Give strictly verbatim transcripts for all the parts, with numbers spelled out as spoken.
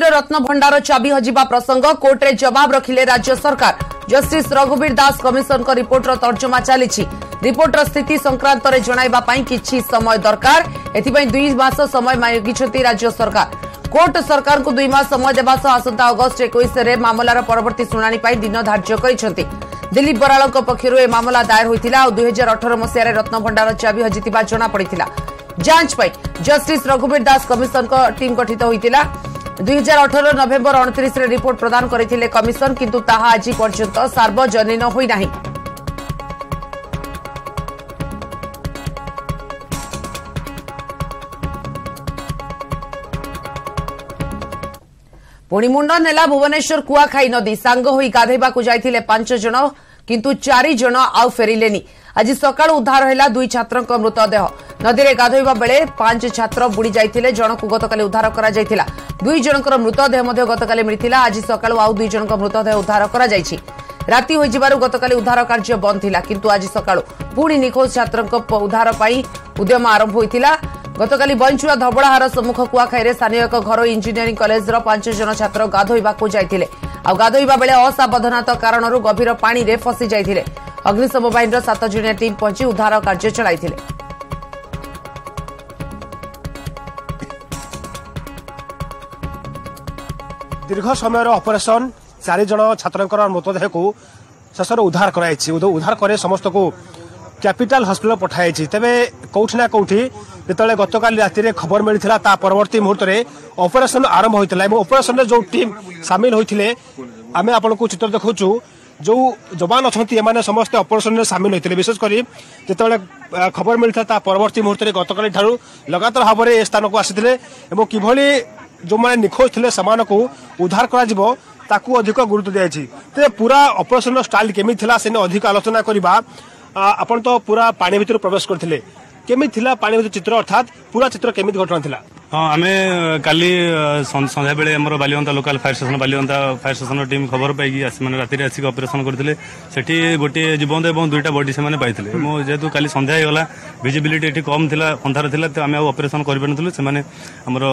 ରାଜନୀତିର ରତ୍ନଭଣ୍ଡାର ଚାବି ହଜିବା ପ୍ରସଙ୍ଗ କୋର୍ଟରେ ଜବାବ ରଖିଲେ ରାଜ୍ୟ ସରକାର। ଜଷ୍ଟିସ୍ ରଘୁବୀର ଦାସ କମିଶନଙ୍କ ରିପୋର୍ଟର ତର୍ଜମା ଚାଲିଛି। ରିପୋର୍ଟର ସ୍ଥିତି ସଂକ୍ରାନ୍ତରେ ଜଣାଇବା ପାଇଁ କିଛି ସମୟ ଦରକାର, ଏଥିପାଇଁ ଦୁଇ ମାସ ସମୟ ମାଗିଛନ୍ତି ରାଜ୍ୟ ସରକାର। କୋର୍ଟ ସରକାରଙ୍କୁ ଦୁଇ ମାସ ସମୟ ଦେବା ସହ ଆସନ୍ତା ଅଗଷ୍ଟ ଏକୋଇଶରେ ମାମଲାର ପରବର୍ତ୍ତୀ ଶୁଣାଣି ପାଇଁ ଦିନ ଧାର୍ଯ୍ୟ କରିଛନ୍ତି। ଦିଲ୍ଲୀପ ବରାଳଙ୍କ ପକ୍ଷରୁ ଏ ମାମଲା ଦାୟର ହୋଇଥିଲା ଆଉ ଦୁଇ ହଜାର ଅଠର ମସିହାରେ ରତ୍ନଭଣ୍ଡାର ଚାବି ହଜିଥିବା ଜଣାପଡ଼ିଥିଲା। ଯାଞ୍ଚ ପାଇଁ ଜଷ୍ଟିସ୍ ରଘୁବୀର ଦାସ କମିଶନଙ୍କ ଟିମ୍ ଗଠିତ ହୋଇଥିଲା। ଦୁଇ ହଜାର ଅଠର ନଭେମ୍ବର ଅଣତିରିଶରେ ରିପୋର୍ଟ ପ୍ରଦାନ କରିଥିଲେ କମିଶନ, କିନ୍ତୁ ତାହା ଆଜି ପର୍ଯ୍ୟନ୍ତ ସାର୍ବଜନୀନ ହୋଇନାହିଁ। ପୁଣି ମୁଣ୍ଡ ନେଲା ଭୁବନେଶ୍ୱର କୁଆଖାଇ ନଦୀ। ସାଙ୍ଗ ହୋଇ ଗାଧୋଇବାକୁ ଯାଇଥିଲେ ପାଞ୍ଚ ଜଣ, କିନ୍ତୁ ଚାରି ଜଣ ଆଉ ଫେରିଲେନି। ଆଜି ସକାଳୁ ଉଦ୍ଧାର ହେଲା ଦୁଇ ଛାତ୍ରଙ୍କ ମୃତଦେହ। ନଦୀରେ ଗାଧୋଇବା ବେଳେ ପାଞ୍ଚ ଛାତ୍ର ବୁଡ଼ି ଯାଇଥିଲେ। ଜଣକୁ ଗତକାଲି ଉଦ୍ଧାର କରାଯାଇଥିଲା। ଦୁଇ ଜଣଙ୍କର ମୃତଦେହ ମଧ୍ୟ ଗତକାଲି ମିଳିଥିଲା। ଆଜି ସକାଳୁ ଆଉ ଦୁଇ ଜଣଙ୍କ ମୃତଦେହ ଉଦ୍ଧାର କରାଯାଇଛି। ରାତି ହୋଇଯିବାରୁ ଗତକାଲି ଉଦ୍ଧାର କାର୍ଯ୍ୟ ବନ୍ଦ ଥିଲା, କିନ୍ତୁ ଆଜି ସକାଳୁ ପୁଣି ନିଖୋଜ ଛାତ୍ରଙ୍କ ଉଦ୍ଧାର ପାଇଁ ଉଦ୍ୟମ ଆରମ୍ଭ ହୋଇଥିଲା। ଗତକାଲି ବଇଞ୍ଚୁଆ ଧବଳାହାର ସମ୍ମୁଖ କୁଆଖାଇରେ ସ୍ଥାନୀୟ ଏକ ଘରୋଇ ଇଞ୍ଜିନିୟରିଂ କଲେଜର ପାଞ୍ଚ ଜଣ ଛାତ୍ର ଗାଧୋଇବାକୁ ଯାଇଥିଲେ। ଆଉ ଗାଧୋଇବା ବେଳେ ଅସାବଧାନତା କାରଣରୁ ଗଭୀର ପାଣିରେ ଫସି ଯାଇଥିଲେ। ଅଗ୍ନିଶମ ବାହିନୀର ସାତ ଜଣିଆ ଟିମ୍ ପହଞ୍ଚି ଉଦ୍ଧାର କାର୍ଯ୍ୟ ଚଳାଇଥିଲେ। ଦୀର୍ଘ ସମୟର ଅପରେସନ, ଚାରି ଜଣ ଛାତ୍ରଙ୍କର ମୃତଦେହକୁ ଶେଷରେ ଉଦ୍ଧାର କରାଯାଇଛି। ଉଦ୍ଧାର କରି ସମସ୍ତଙ୍କୁ କ୍ୟାପିଟାଲ ହସ୍ପିଟାଲ ପଠାଯାଇଛି। ତେବେ କୋଉଠି ନା କୋଉଠି ଯେତେବେଳେ ଗତକାଲି ରାତିରେ ଖବର ମିଳିଥିଲା, ତା ପରବର୍ତ୍ତୀ ମୁହୂର୍ତ୍ତରେ ଅପରେସନ ଆରମ୍ଭ ହୋଇଥିଲା ଏବଂ ଅପରେସନରେ ଯେଉଁ ଟିମ୍ ସାମିଲ ହୋଇଥିଲେ, ଆମେ ଆପଣଙ୍କୁ ଚିତ୍ର ଦେଖାଉଛୁ, ଯେଉଁ ଯବାନ ଅଛନ୍ତି ଏମାନେ ସମସ୍ତେ ଅପରେସନରେ ସାମିଲ ହୋଇଥିଲେ। ବିଶେଷ କରି ଯେତେବେଳେ ଖବର ମିଳିଥିଲା ତା ପରବର୍ତ୍ତୀ ମୁହୂର୍ତ୍ତରେ ଗତକାଲି ଠାରୁ ଲଗାତାର ଭାବରେ ଏ ସ୍ଥାନକୁ ଆସିଥିଲେ ଏବଂ କିଭଳି ଯେଉଁମାନେ ନିଖୋଜ ଥିଲେ ସେମାନଙ୍କୁ ଉଦ୍ଧାର କରାଯିବ ତାକୁ ଅଧିକ ଗୁରୁତ୍ୱ ଦିଆଯାଇଛି। ତେବେ ପୁରା ଅପରେସନର ଷ୍ଟାଇଲ କେମିତି ଥିଲା ସେ ନେଇ ଅଧିକ ଆଲୋଚନା କରିବା। ଆପଣ ତ ପୁରା ପାଣି ଭିତରୁ ପ୍ରବେଶ କରିଥିଲେ, କେମିତି ଥିଲା ପାଣି ଭିତର ଚିତ୍ର, ଅର୍ଥାତ୍ ପୁରା ଚିତ୍ର କେମିତି ଘଟଣା ଥିଲା? ହଁ, ଆମେ କାଲି ସନ୍ଧ୍ୟାବେଳେ ଆମର Balianta local fire station, Balianta fire ଷ୍ଟେସନର ଟିମ୍ ଖବର ପାଇକି ଆସି ମାନେ ରାତିରେ ଆସିକି ଅପରେସନ କରିଥିଲେ। ସେଠି ଗୋଟିଏ ଜୀବନ୍ତ ଏବଂ ଦୁଇଟା ବଡି ସେମାନେ ପାଇଥିଲେ। ମୁଁ ଯେହେତୁ କାଲି ସନ୍ଧ୍ୟା ହେଇଗଲା, ଭିଜିବିଲିଟି ଏଠି କମ୍ ଥିଲା, ଅନ୍ଧାର ଥିଲା, ତ ଆମେ ଆଉ ଅପରେସନ କରିପାରିନଥିଲୁ। ସେମାନେ ଆମର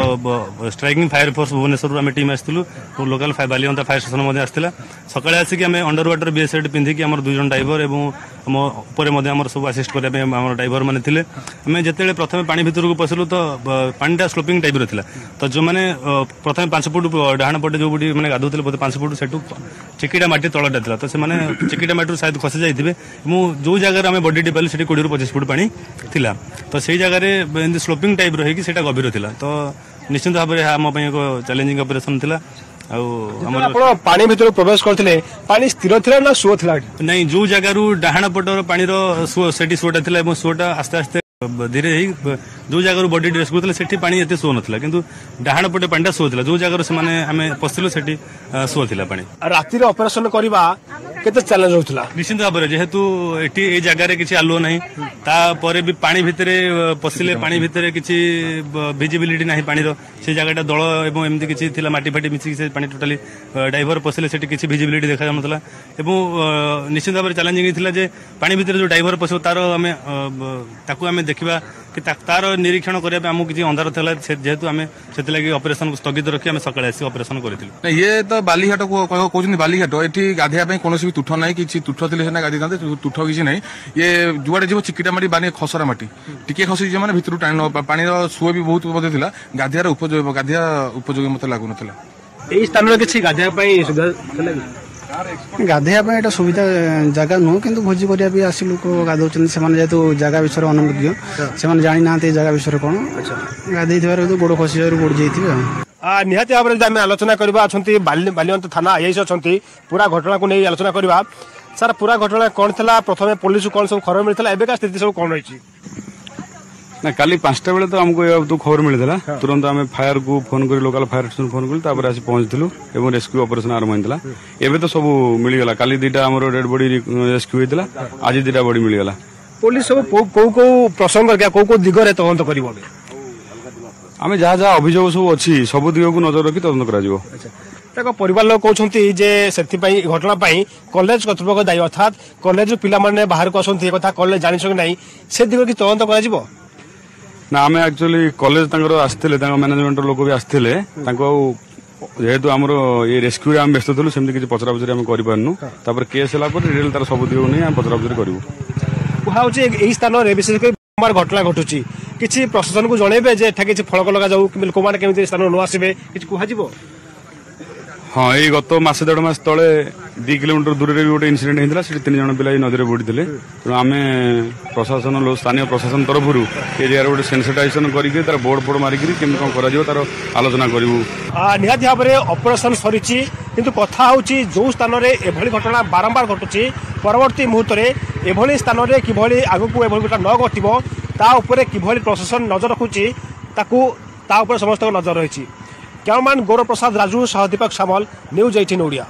ଷ୍ଟ୍ରାଇକିଂ ଫାୟାର ଫୋର୍ସ ଭୁବନେଶ୍ୱରରୁ ଆମେ ଟିମ୍ ଆସିଥିଲୁ, ଲୋକାଲ ବାଲିଅନ୍ତା ଫାୟାର ଷ୍ଟେସନ ମଧ୍ୟ ଆସିଥିଲା। ସକାଳେ ଆସିକି ଆମେ ଅଣ୍ଡର ୱାଟର ବିଏସ୍ଏଡ୍ ପିନ୍ଧିକି ଆମର ଦୁଇ ଜଣ ଡାଇଭର ଏବଂ ଆମ ଉପରେ ମଧ୍ୟ ଆମର ସବୁ ଆସିଷ୍ଟ କରିବା ପାଇଁ ଆମର ଡାଇଭର ମାନେ ଥିଲେ। ଆମେ ଯେତେବେଳେ ପ୍ରଥମେ ପାଣି ଭିତରକୁ ପଶିଲୁ ତ ପାଣିଟା ସ୍ଲୋପିଂ ଟାଇପ୍ର ଥିଲା। ତ ଯେଉଁମାନେ ପ୍ରଥମେ ପାଞ୍ଚ ଫୁଟ ଡାହାଣ ପଟେ ଯେଉଁଠି ମାନେ ଗାଧୋଉଥିଲେ, ବୋଧେ ପାଞ୍ଚ ଫୁଟ ସେଠୁ ଚିକିଟା ମାଟି ତଳଟା ଥିଲା, ତ ସେମାନେ ଚିକିଟା ମାଟିରୁ ସାୟଦ ଖସି ଯାଇଥିବେ। ମୁଁ ଯେଉଁ ଜାଗାରେ ଆମେ ବଡିଟି ପାଇଲୁ ସେଠି କୋଡ଼ିଏରୁ ପଚିଶ ଫୁଟ ପାଣି ଥିଲା। ତ ସେଇ ଜାଗାରେ ଏମିତି ସ୍ଲୋପିଂ ଟାଇପ୍ର ହେଇକି ସେଇଟା ଗଭୀର ଥିଲା। ତ ନିଶ୍ଚିନ୍ତ ଭାବରେ ଏହା ଆମ ପାଇଁ ଏକ ଚ୍ୟାଲେଞ୍ଜିଂ ଅପରେସନ ଥିଲା। ଆଉ ଆମର ଆପଣ ପାଣି ଭିତରକୁ ପ୍ରବେଶ କରିଥିଲେ, ପାଣି ସ୍ଥିର ଥିଲା ନା ସୁଅ ଥିଲା? ନାଇଁ, ଯୋଉ ଜାଗାରୁ ଡାହାଣ ପଟର ପାଣିର ସୁଅ, ସେଠି ସୁଅଟା ଥିଲା ଏବଂ ସୁଅଟା ଆସ୍ତେ ଆସ୍ତେ ଧୀରେ ହେଇ ଯୋଉ ଜାଗାରୁ ବଡି ରେସ୍କ୍ୟୁ କରୁଥିଲେ ସେଠି ପାଣି ଏତେ ସୁଅ ନଥିଲା, କିନ୍ତୁ ଡାହାଣ ପଟେ ପାଣିଟା ସୁଅ ଥିଲା। ଯୋଉ ଜାଗାରୁ ସେମାନେ ଆମେ ପଶିଥିଲୁ ସେଠି ସୁଅ ଥିଲା ପାଣି। ରାତିରେ ଅପରେସନ କରିବା କେତେ ଚ୍ୟାଲେଞ୍ଜ ରହୁଥିଲା? ନିଶ୍ଚିନ୍ତ ଭାବରେ, ଯେହେତୁ ଏଠି ଏଇ ଜାଗାରେ କିଛି ଆଲୁଅ ନାହିଁ, ତାପରେ ବି ପାଣି ଭିତରେ ପଶିଲେ ପାଣି ଭିତରେ କିଛି ଭିଜିବିଲିଟି ନାହିଁ ପାଣିର। ସେ ଜାଗାଟା ଦଳ ଏବଂ ଏମିତି କିଛି ଥିଲା, ମାଟି ଫାଟି ମିଶିକି ସେ ପାଣି ଟୋଟାଲି ଡାଇଭର ପଶିଲେ ସେଠି କିଛି ଭିଜିବିଲିଟି ଦେଖାଯାଉନଥିଲା। ଏବଂ ନିଶ୍ଚିନ୍ତ ଭାବରେ ଚ୍ୟାଲେଞ୍ଜିଂ ଥିଲା ଯେ ପାଣି ଭିତରେ ଯୋଉ ଡାଇଭର ପଶିବ ତାର ଆମେ ତାକୁ ଆମେ ଦେଖିବା କି ତାର ନିରୀକ୍ଷଣ କରିବା ପାଇଁ ଆମକୁ କିଛି ଅନ୍ଧାର ଥିଲା, ଯେହେତୁ ଆମେ ସେଥିଲାଗି ଅପରେସନକୁ ସ୍ଥଗିତ ରଖି ଆମେ ସକାଳେ ଆସି ଅପରେସନ କରିଥିଲୁ। ଇଏ ତ ବାଲିଘାଟ କହୁଛନ୍ତି, ବାଲିଘାଟ ଏଠି ଗାଧେଇବା ପାଇଁ କୌଣସି ବି ତୁଠ ନାହିଁ। କିଛି ତୁଠ ଥିଲେ ସିନା ଗାଧେଇଥାନ୍ତେ, ତୁଠ କିଛି ନାହିଁ। ଇଏ ଯୁଆଡେ ଯିବ ଚିକିଟା ମାଟି, ବାନି ଖସରା ମାଟି, ଟିକେ ଖସିଯିବ ମାନେ ଭିତରୁ ଟାଣି ନେବ। ପାଣିର ସୁଅ ବି ବହୁତ ମଧ୍ୟ ଥିଲା। ଗାଧେଇବାର ଉପଯୋଗ, ଗାଧେଇବା ଉପଯୋଗୀ ମତେ ଲାଗୁନଥିଲା। ଏଇ ସ୍ଥାନରେ କିଛି ଗାଧେଇବା ପାଇଁ ସୁବିଧା ଥିଲା କି? ଗାଧେଇବା ପାଇଁ ଏଇଟା ସୁବିଧା ଜାଗା ନୁହଁ, କିନ୍ତୁ ଭୋଜି କରିବା ପାଇଁ ଆସି ଲୋକ ଗାଧଉଛନ୍ତି। ସେମାନେ ଯେହେତୁ ଜାଗା ବିଷୟରେ ଅନଭିଜ୍ଞ, ସେମାନେ ଜାଣିନାହାନ୍ତି ଏ ଜାଗା ବିଷୟରେ କ'ଣ, ଗାଧେଇଥିବାରୁ ଗୋଡ଼ ଖସିଯିବାରୁ ବୁଡ଼ି ଯାଇଥିବେ। ଆଉ ନିହାତି ଭାବରେ ଯଦି ଆମେ ଆଲୋଚନା କରିବା, ଅଛନ୍ତି ବାଲିଅନ୍ତା ଥାନା ଆଇଆଇସି ଅଛନ୍ତି, ପୁରା ଘଟଣାକୁ ନେଇ ଆଲୋଚନା କରିବା। ସାର୍, ପୁରା ଘଟଣା କ'ଣ ଥିଲା? ପ୍ରଥମେ ପୋଲିସକୁ କ'ଣ ସବୁ ଖବର ମିଳିଥିଲା? ଏବେକା ସ୍ଥିତି ସବୁ କ'ଣ ରହିଛି? ନା, କାଲି ପାଞ୍ଚଟା ବେଳେ ତ ଆମକୁ ଏ ବାବଦକୁ ଖବର ମିଳିଥିଲା। ତୁରନ୍ତ ଆମେ ଫାୟାରକୁ ଫୋନ କରି, ଲୋକାଲ ଫାୟାର ଷ୍ଟେସନ ଫୋନ କଲୁ, ତାପରେ ଆସି ପହଞ୍ଚିଥିଲୁ ଏବଂ ରେସ୍କ୍ୟୁ ଅପରେସନ ଆରମ୍ଭ ହେଇଥିଲା। ଏବେ ତ ସବୁ ମିଳିଗଲା। କାଲି ଦିଟା ଆମର ଡେଡ୍ ବଡି ରେସ୍କ୍ୟୁ ହେଇଥିଲା, ଆଜି ଦିଟା ବଡି ମିଳିଗଲା। ପୋଲିସ ସବୁ କୋଉ କୋଉ ପ୍ରସଙ୍ଗ, କୋଉ କୋଉ ଦିଗରେ ତଦନ୍ତ କରିବ? ଆମେ ଯାହା ଯାହା ଅଭିଯୋଗ ସବୁ ଅଛି ସବୁ ଦିଗକୁ ନଜର ରଖି ତଦନ୍ତ କରାଯିବ। ତାଙ୍କ ପରିବାର ଲୋକ କହୁଛନ୍ତି ଯେ ସେଥିପାଇଁ ଘଟଣା ପାଇଁ କଲେଜ କର୍ତ୍ତୃପକ୍ଷ ଦାୟୀ, ଅର୍ଥାତ୍ କଲେଜ ପିଲାମାନେ ବାହାରକୁ ଆସନ୍ତି, ଏ କଥା କଲେଜ ଜାଣିଛ କି ନାହିଁ, ସେ ଦିଗରେ କି ତଦନ୍ତ କରାଯିବ? ନା, ଆମେ ଆକ୍ଚୁଆଲି କଲେଜ ତାଙ୍କର ଆସିଥିଲେ, ତାଙ୍କ ମ୍ୟାନେଜମେଣ୍ଟର ଲୋକ ବି ଆସିଥିଲେ, ତାଙ୍କୁ ଆଉ ଯେହେତୁ ଆମର ଏ ରେସ୍କ୍ୟୁରେ ଆମେ ବ୍ୟସ୍ତ ଥିଲୁ, ସେମିତି କିଛି ପଚରା ପଚରି ଆମେ କରିପାରିନୁ। ତାପରେ କେସ୍ ହେଲା ପରେ ରିଏଲ୍ ତାର ସବୁ ଦିଗକୁ ନେଇ ଆମେ ପଚରା ପଚରି କରିବୁ। କୁହାଯାଉଛି ଏହି ସ୍ଥାନରେ ବିଶେଷ କରି ବାରମ୍ବାର ଘଟଣା ଘଟୁଛି। କିଛି ପ୍ରଶାସନକୁ ଜଣେଇବେ ଯେ ଏଠା କିଛି ଫଳକ ଲଗାଯାଉ କିମ୍ବା ଲୋକମାନେ କେମିତି ସ୍ଥାନକୁ ନ ଆସିବେ, କିଛି କୁହାଯିବ? ହଁ, ଏଇ ଗତ ମାସେ ଦେଢ଼ ମାସ ତଳେ ଦି କିଲୋମିଟର ଦୂରରେ ବି ଗୋଟେ ଇନସିଡେଣ୍ଟ ହେଇଥିଲା। ସେଠି ତିନି ଜଣ ପିଲା ଏଇ ନଦୀରେ ବୁଡ଼ିଥିଲେ। ତେଣୁ ଆମେ ପ୍ରଶାସନ, ସ୍ଥାନୀୟ ପ୍ରଶାସନ ତରଫରୁ ଏ ଜାଗାରେ ଗୋଟେ ସେନ୍ସିଟାଇଜେସନ କରିକି ତାର ବୋର୍ଡ ଫୋର୍ଡ ମାରିକିରି କେମିତି କଣ କରାଯିବ ତାର ଆଲୋଚନା କରିବୁ। ନିହାତି ଭାବରେ ଅପରେସନ ସରିଛି, କିନ୍ତୁ କଥା ହେଉଛି ଯେଉଁ ସ୍ଥାନରେ ଏଭଳି ଘଟଣା ବାରମ୍ବାର ଘଟୁଛି, ପରବର୍ତ୍ତୀ ମୁହୂର୍ତ୍ତରେ ଏଭଳି ସ୍ଥାନରେ କିଭଳି ଆଗକୁ ଏଭଳି ଘଟଣା ନ ଘଟିବ ତା ଉପରେ କିଭଳି ପ୍ରଶାସନ ନଜର ରଖୁଛି, ତାକୁ ତା ଉପରେ ସମସ୍ତଙ୍କ ନଜର ରହିଛି। କ୍ୟାମରାମ୍ୟାନ୍ ଗୌରବ ପ୍ରସାଦ ରାଜୁ ସହ ଦୀପକ ସାମଲ, ନ୍ୟୁଜ୍ ଏଇଟିନ୍ ଓଡ଼ିଆ।